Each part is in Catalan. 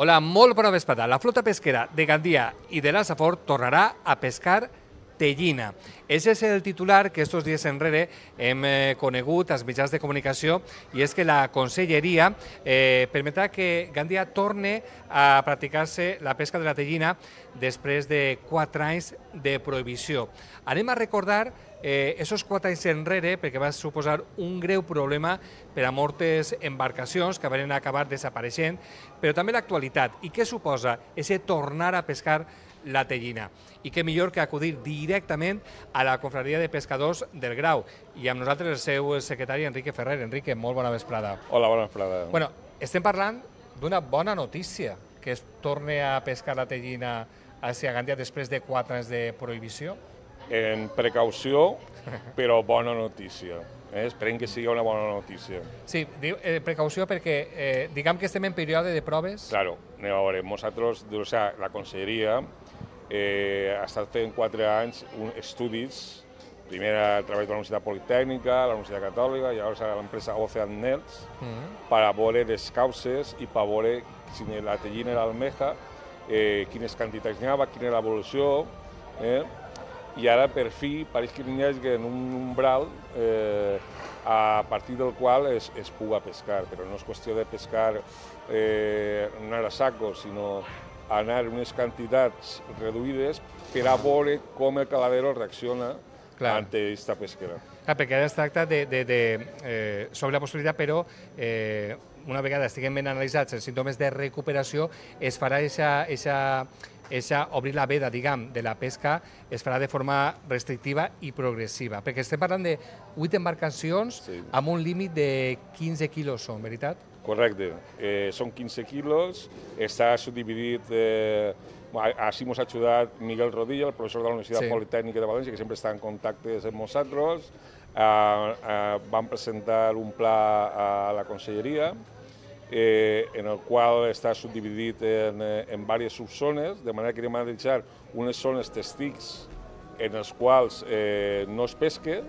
Hola, molt bona vesprada. La flota pesquera de Gandia i de la Safor tornarà a pescar tellina. Ese és el titular que estos dies enrere hem conegut als mitjans de comunicació, i és que la Conselleria permetrà que Gandia torne a practicar-se la pesca de la tellina després de 4 anys de prohibició. Anem a recordar esos 4 anys enrere, perquè va suposar un greu problema per a moltes embarcacions que van acabar desapareixent, però també l'actualitat. I què suposa ese tornar a pescar la tellina? I què millor que acudir directament a la Confraria de Pescadors del Grau. I amb nosaltres el seu secretari, Enrique Ferrer. Enrique, molt bona vesprada. Hola, bona vesprada. Bueno, estem parlant d'una bona notícia, que es torni a pescar la tellina a Gandia després de 4 anys de prohibició. En precaució, però bona notícia. Esperem que sigui una bona notícia. Sí, precaució perquè diguem que estem en període de proves. Claro, a veure, nosaltres, la Conselleria ha estat fent 4 anys estudis, primer a través de la Universitat Politècnica, la Universitat Catòlica i ara l'empresa Ocean Nets, per a veure les causes i per veure si la tellina era almeja, quines quantitats n'hi havia, quina era l'evolució, i ara per fi pareix que n'hi hagi un umbral a partir del qual es puga pescar, però no és qüestió de pescar anar a saco, sinó anar unes quantitats reduïdes per a veure com el caladero reacciona ante aquesta pesquera. Clar, perquè ara es tracta sobre la possibilitat, però una vegada estiguem ben analitzats els símptomes de recuperació, es farà obrir la veda, diguem, de la pesca, es farà de forma restrictiva i progressiva, perquè estem parlant de 8 embarcacions amb un límit de 15 quilos, són, veritat? Correcte, són 15 quilos, està subdividit, així ens ha ajudat Miguel Rodilla, el professor de la Universitat Politècnica de València, que sempre està en contacte amb nosaltres. Vam presentar un pla a la Conselleria, en el qual està subdividit en diverses subzones, de manera que anem a deixar unes zones testics en les quals no es pesca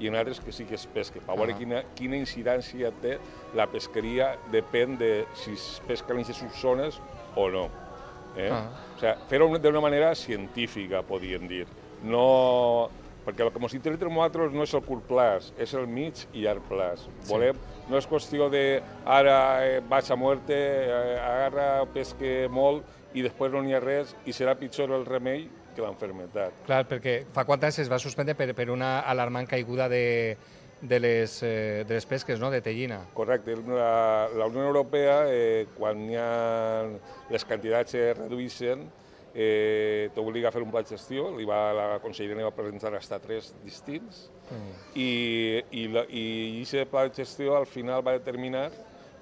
i en altres que sí que es pesca. Per veure quina incidència té la pesqueria depèn de si es pesca en aquestes subzones o no. Fer-ho d'una manera científica, podríem dir. Perquè el que ens interessa a nosaltres no és el curt plaç, és el mig i llarg plaç. No és qüestió de ara vaig a muerte, agarra, pesque molt i després no n'hi ha res i serà pitjor el remei que l'enfermetat. Clar, perquè fa 4 anys es va suspendre per una alarmant caiguda de les pesques, de tellina. Correcte. La Unió Europea, quan les quantitats es redueixen, t'obliga a fer un pla de gestió, la Conselleria va presentar fins a 3 distints, i aquest pla de gestió al final va determinar,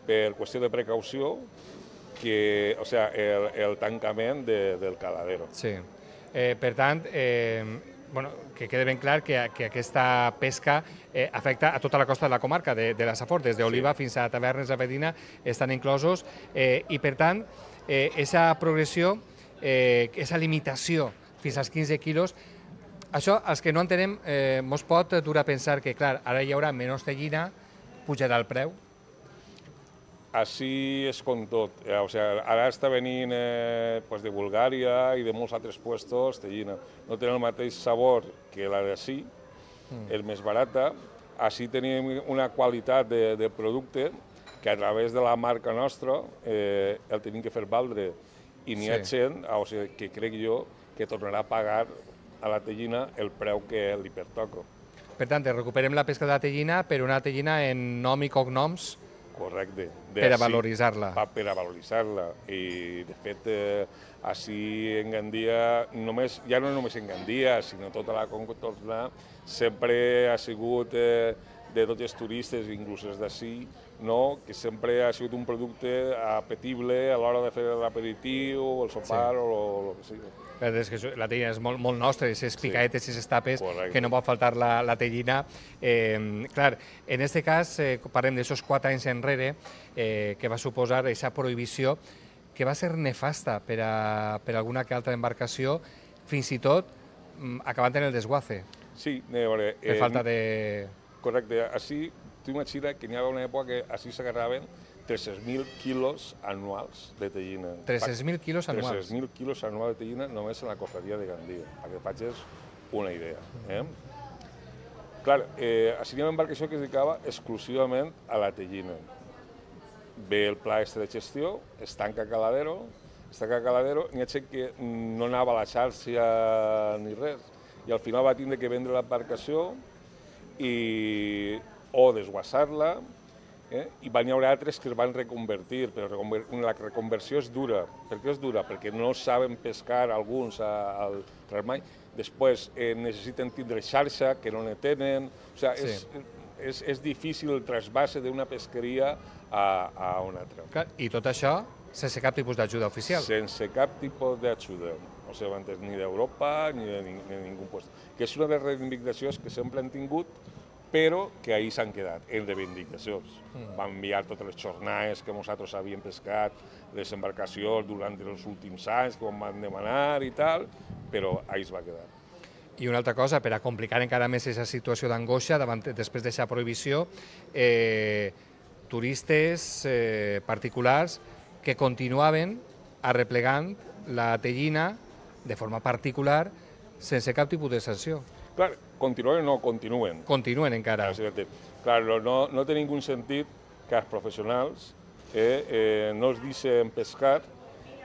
per qüestió de precaució, el tancament del caladero. Sí. Per tant, que quede ben clar que aquesta pesca afecta a tota la costa de la comarca de la Safor, des d'Oliva fins a Tavernes de Vedina estan inclosos, i per tant, aquesta progressió, aquesta limitació fins als 15 quilos, això, els que no entenem, ens pot dur a pensar que, clar, ara hi haurà menys tellina, pujarà el preu. Així és com tot. Ara està venint de Bulgària i de molts altres puestos tellina. No tenen el mateix sabor que la d'ací, és més barata. Així tenim una qualitat de producte que a través de la marca nostra el tenim que fer valdre. I n'hi ha gent que crec jo que tornarà a pagar a la tellina el preu que li pertoca. Per tant, recuperem la pesca de la tellina, però una tellina en nom i cognoms. Correcte. Per a valoritzar-la. Per a valoritzar-la. I, de fet, així en Gandia, ja no només en Gandia, sinó tota la contorna, sempre ha sigut de tots els turistes, inclús els d'ací, que sempre ha sigut un producte apetible a l'hora de fer l'aperitiu, el sopar o el que sigui. La tellina és molt nostra, aquestes picaetes i aquestes tapes, que no pot faltar la tellina. Clar, en aquest cas, parlem d'aixòs 4 anys enrere, que va suposar aquesta prohibició, que va ser nefasta per a alguna que altra embarcació, fins i tot acabant en el desguace. Sí, a veure... Per falta de... Correcte. Així tu imagina que n'hi havia una època que així s'agarraven 300.000 quilos anuals de tellina. 300.000 quilos anuals? 300.000 quilos anuals de tellina només en la cofradia de Gandia, perquè facis una idea. Clar, així hi ha una embarcació que es dedicava exclusivament a la tellina. Ve el pla de gestió, es tanca Caladero, n'hi ha gent que no anava a la xarxa ni res, i al final va tindre que vendre l'embarcació o desguassar-la, i van hi haver altres que es van reconvertir, però la reconversió és dura. Per què és dura? Perquè no saben pescar alguns al trasmany, després necessiten tindre xarxa, que no ne tenen, o sigui, és difícil el trasbase d'una pesqueria a una altra. I tot això sense cap tipus d'ajuda oficial? Sense cap tipus d'ajuda, o sigui, ni d'Europa ni de ningú lloc. Que és una de les reivindicacions que sempre han tingut, però que ahir s'han quedat, en reivindicacions. Van enviar totes les jornades que nosaltres havíem pescat, les embarcacions durant els últims anys, que van demanar i tal, però ahir es va quedar. I una altra cosa, per a complicar encara més aquesta situació d'angoixa, després d'aquesta prohibició, turistes particulars que continuaven arreplegant la tellina de forma particular sense cap tipus de sanció. Clar, continuen o no continuen. Continuen encara. Clar, no té ningú sentit que els professionals no es deixen pescar,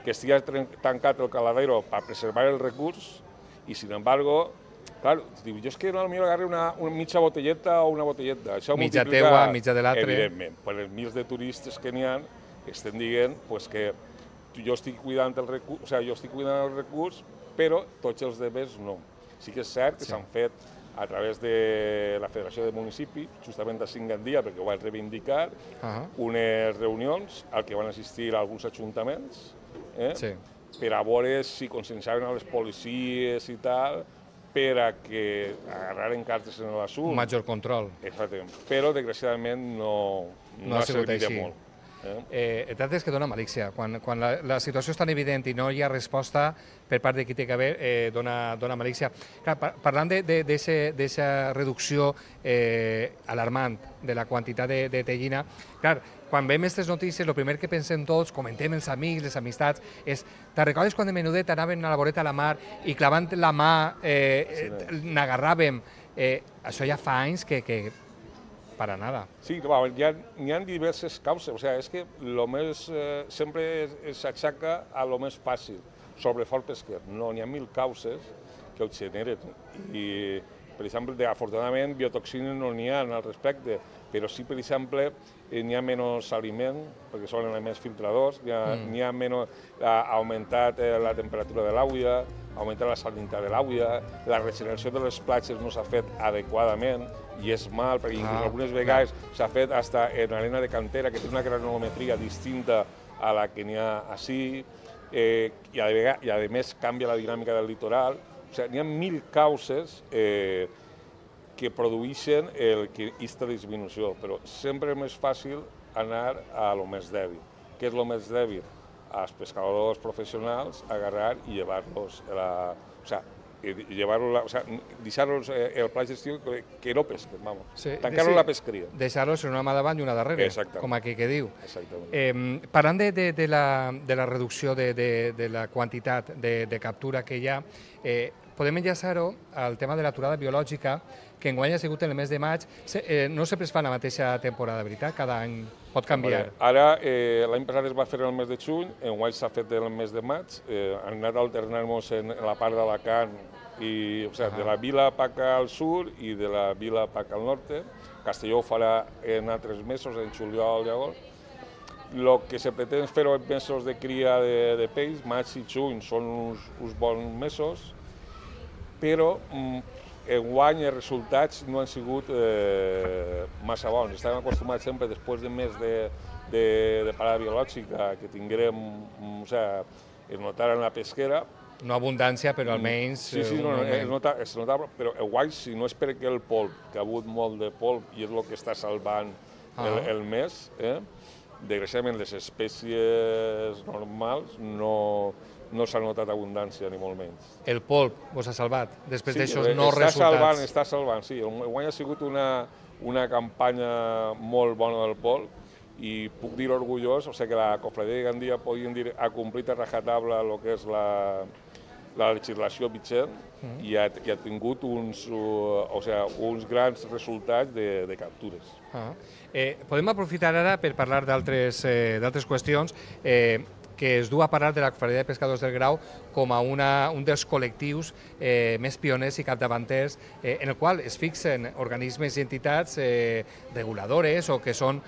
que estigui tancat el caladero per preservar el recurs i, sin embargo, clar, diu, jo és que no m'agarro una mitja botelleta o una botelleta. Mitja teua, mitja de l'altre. Evidentment, per els milers de turistes que n'hi ha, estem dient que jo estic cuidant el recurs, però tots els demés no. Sí que és cert que s'han fet a través de la Federació de Municipis, justament a Gandia, perquè ho van reivindicar, unes reunions al que van assistir alguns ajuntaments, per a veure si conscienciaven a les policies i tal, per a que agarraren cartes en l'assumpte. Un major control. Exactament. Però, desgraciadament, no ha servit de molt. El tracte és que dona malícia. Quan la situació és tan evident i no hi ha resposta per part de qui té que haver, dona malícia. Parlant d'aquesta reducció alarmant de la quantitat de tellina, clar, quan veiem aquestes notícies, el primer que pensem tots, comentem els amics, les amistats, és, te'n recordes quan de menudet anaven a la voreta a la mar i clavant la mà n'agarràvem? Això ja fa anys que para nada. Sí, n'hi ha diverses causes. O sigui, és que sempre s'aixaca a lo més fàcil, sobrefort pesquer. No, n'hi ha 1000 causes que ho generen. I, per exemple, afortunadament, biotoxines no n'hi ha al respecte, però sí, per exemple, n'hi ha menys aliment, perquè són elements filtradors, n'hi ha menys, ha augmentat la temperatura de l'aigua, ha augmentat la salinitat de l'aigua, la regeneració de les platges no s'ha fet adequadament, i és mal, perquè algunes vegades s'ha fet fins en arena de cantera, que té una granulometria distinta a la que n'hi ha així, i a més canvia la dinàmica del litoral. O sigui, n'hi ha 1000 causes que produeixen aquesta disminució, però sempre és més fàcil anar a lo més dèbil. Què és lo més dèbil? Els pescadors professionals agarrar i llevar-los deixar-los el pla de gestió que no pesquen, tancar-los la pesqueria. Deixar-los en una mà davant i una darrere, com aquí que diu. Parlant de la reducció de la quantitat de captura que hi ha, podem enllaçar-ho al tema de l'aturada biològica, que enguany ha sigut en el mes de maig. No sempre es fa en la mateixa temporada, veritat? Cada any pot canviar. Ara, l'any passat es va fer en el mes de juny, enguany s'ha fet en el mes de maig. Han anat alternant-nos en la part d'Alacant, de la vila Paca al sud i de la vila Paca al nord. Castelló ho farà en altres mesos, en juliol i agost. El que se pretén fer en mesos de cria de peix, maig i juny, són uns bons mesos, però enguany els resultats no han sigut massa bons. Estàvem acostumats sempre, després de mes de parada biològica, que tinguérem, es notara en la pesquera. No abundància, però almenys... Sí, es notava, però enguany, si no és perquè el polp, que ha hagut molt de polp i és el que està salvant el mes, desgraciadament les espècies normals no s'ha notat abundància, ni molt menys. El polp vos ha salvat, després d'aixòs no resultats? Està salvant, sí. Enguany ha sigut una campanya molt bona del pol i puc dir orgullós, o sigui que la Cofradia de Gandia podríem dir ha complit a rajatabla el que és la legislació vigent i ha tingut uns grans resultats de captures. Podem aprofitar ara per parlar d'altres qüestions que es du a parlar de la Cofradia de Pescadors del Grau com a un dels col·lectius més pioners i capdavanters en el qual es fixen organismes i entitats reguladores o que són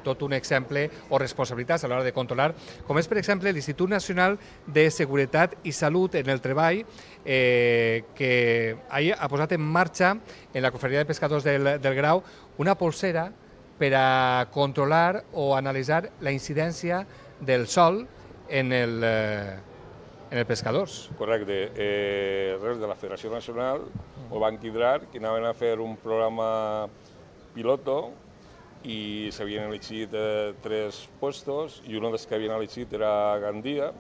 tot un exemple o responsabilitats a l'hora de controlar, com és, per exemple, l'Institut Nacional de Seguretat i Salut en el Treball, que ha posat en marxa en la Cofradia de Pescadors del Grau una polsera per a controlar o analitzar la incidència del sol en els pescadors. Correcte. Res de la Federació Nacional ho van quidrar, que anaven a fer un programa piloto i s'havien elegit 3 puestos i un dels que havien elegit era Gandia,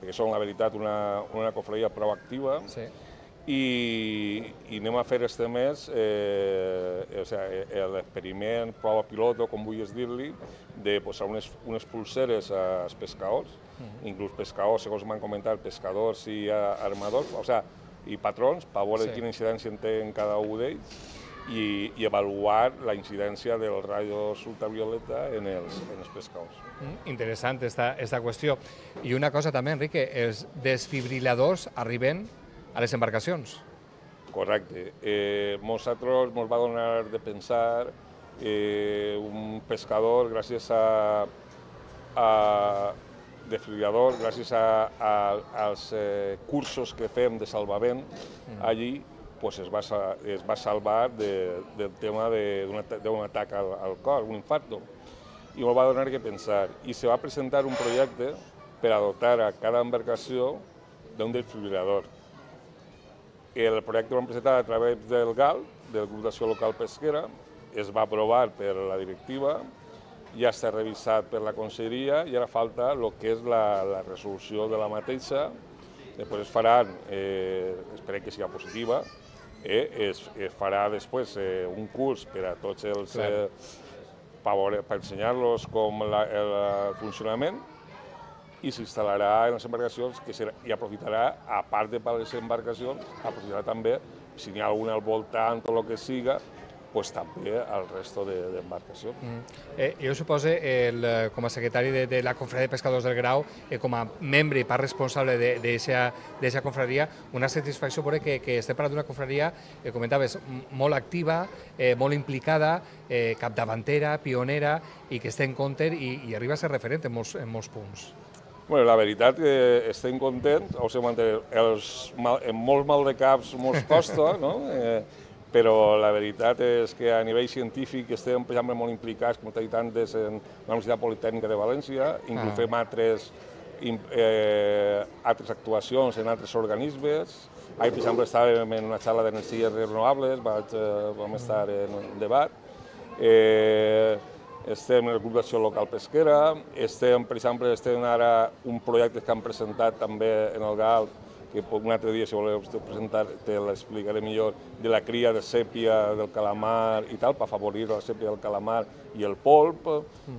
perquè són, la veritat, una cofradia proactiva. Sí. I anem a fer este mes l'experiment, prova piloto, com vulguis dir-li, de posar unes pulseres als pescadors, inclús pescadors, segons m'han comentat, pescadors i armadors, i patrons, per veure quina incidència té en cada un d'ells i avaluar la incidència del rayos ultravioleta en els pescadors. Interessant aquesta qüestió. I una cosa també, Enrique, els desfibriladors arriben a les embarcacions. Correcte. Nosaltres ens va donar de pensar un pescador, gràcies a desfibrilador, gràcies als cursos que fem de salvament allí, es va salvar del tema d'un atac al cor, un infarto. I ens va donar que pensar. I se va presentar un projecte per a dotar a cada embarcació d'un desfibrilador. El projecte l'hem presentat a través del GAL, del Grup d'Acció Local Pesquera, es va aprovar per la directiva, ja està revisat per la conselleria i ara falta el que és la resolució de la mateixa. Després es faran, esperem que sigui positiva, es farà després un curs per a tots els... per ensenyar-los com el funcionament i s'instal·larà en les embarcacions i aprofitarà, a part de per les embarcacions, aprofitarà també, si n'hi ha alguna al voltant o el que siga, també al resto d'embarcacions. Jo suposo, com a secretari de la Confraria de Pescadors del Grau, com a membre i part responsable d'aquesta confraria, una satisfacció veure que estem parlant d'una confraria, comentaves, molt activa, molt implicada, capdavantera, pionera, i que està en compte i arriba a ser referent en molts punts. La veritat que estem contents, en molts maldecaps mos costa, però la veritat és que a nivell científic estem, per exemple, molt implicats, com t'he dit antes, en la Universitat Politècnica de València, inclús fem altres actuacions en altres organismes. Ahir, per exemple, estàvem en una xarxa d'energies renovables, vam estar en un debat. Estem en el Grup d'Acció Local Pesquera, per exemple, estem ara un projecte que han presentat també en el GAL, que un altre dia, si voleu presentar, te l'explicaré millor, de la cria de sèpia del calamar i tal, per afavorir la sèpia del calamar i el polp.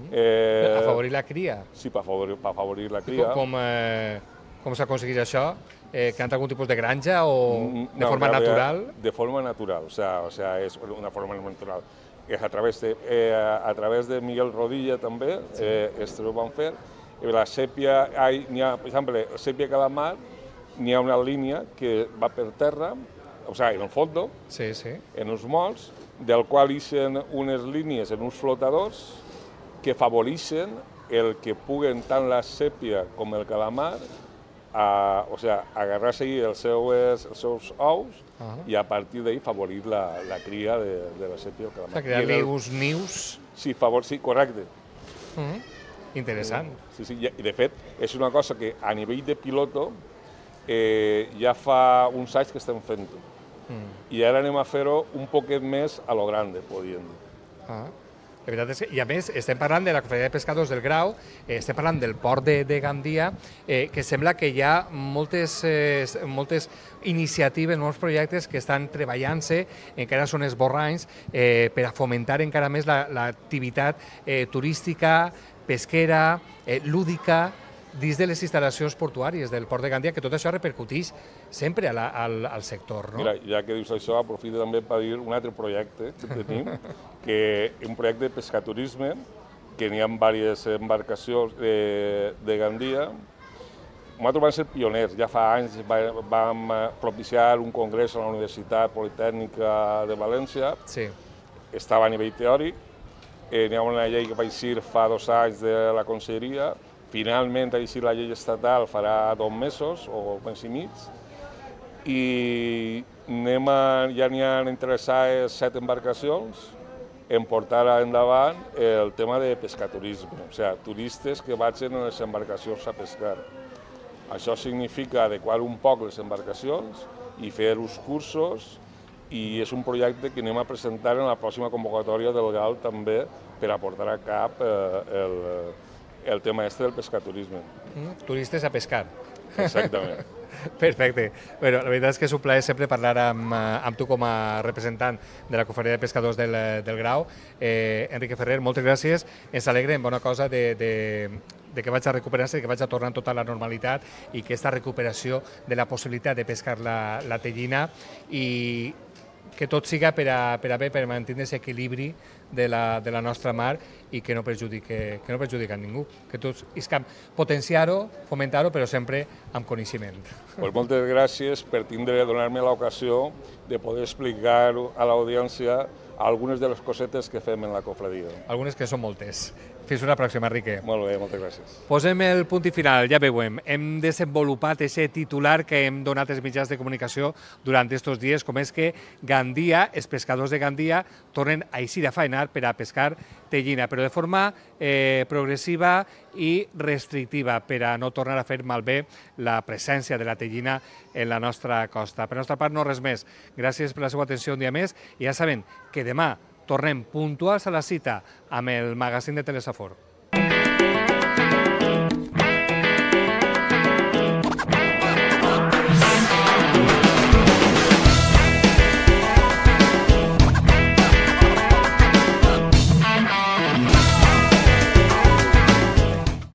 Afavorir la cria? Sí, per afavorir la cria. Com s'aconsegueix això? Que han algun tipus de granja o de forma natural? De forma natural, o sea, és una forma natural. A través de Miguel Rodilla també, ho van fer. La sèpia, per exemple, la sèpia calamar, n'hi ha una línia que va per terra, o sigui, en el fons, en uns molls, del qual ixen unes línies en uns flotadors que afavoreixen el que puguen tant la sèpia com el calamar agarrar-se els seus ous i a partir d'ahir favorir la cria de la sèpia del calamar. Crear-li uns nius? Sí, correcte. Interessant. I de fet, és una cosa que a nivell de piloto ja fa uns anys que estem fent-ho. I ara anem a fer-ho un poquet més a lo grande, podríem dir. La veritat és que, i a més, estem parlant de la Confraria de Pescadors del Grau, estem parlant del port de Gandia, que sembla que hi ha moltes iniciatives, molts projectes que estan treballant-se, encara són esborranys, per a fomentar encara més l'activitat turística, pesquera, lúdica, dins de les instal·lacions portuàries del port de Gandia, que tot això repercuteix sempre al sector. No? Mira, ja que dius això, aprofito també per dir un altre projecte que tenim, que és un projecte de pescaturisme, que n'hi ha diverses embarcacions de Gandia. Nosaltres vam ser pioners, ja fa anys vam propiciar un congrés a la Universitat Politècnica de València, sí. Estava a nivell teòric, n'hi ha una llei que va eixir fa 2 anys de la Conselleria. Finalment ha eixit la llei estatal farà 2 mesos o mes i mig, i ja n'hi ha interessades 7 embarcacions en portar endavant el tema de pescaturisme, o sigui, turistes que vagin en les embarcacions a pescar. Això significa adequar un poc les embarcacions i fer uns cursos, i és un projecte que anem a presentar en la pròxima convocatòria del GAL també per a portar a cap el tema del pescaturisme. Turistes a pescar. Exactament. Perfecte. Bueno, la veritat és que és un plaer sempre parlar amb tu com a representant de la Confraria de Pescadors del Grau. Enrique Ferrer, moltes gràcies. Ens alegrem, bona cosa, de que vaig a recuperar-se, que vaig a tornar tota la normalitat i que aquesta recuperació de la possibilitat de pescar la tellina i que tot siga per a bé, per mantenir aquest equilibri de la nostra mar i que no perjudica ningú. Que tots iscam potenciar-ho, fomentar-ho, però sempre amb coneixement. Pues moltes gràcies per donar-me l'ocasió de poder explicar a l'audiència algunes de les cosetes que fem en la cofradia. Algunes que són moltes. Fins una pròxima, Enrique. Molt bé, moltes gràcies. Posem el punt i final, ja veiem. Hem desenvolupat aquest titular que hem donat als mitjans de comunicació durant aquests dies, com és que Gandia, els pescadors de Gandia, tornen a eixir a faenar per a pescar tellina, però de forma progressiva i restrictiva, per a no tornar a fer malbé la presència de la tellina en la nostra costa. Per la nostra part, no res més. Gràcies per la seva atenció un dia més i ja saben que demà tornem puntuals a la cita amb el magazín de Telesafor.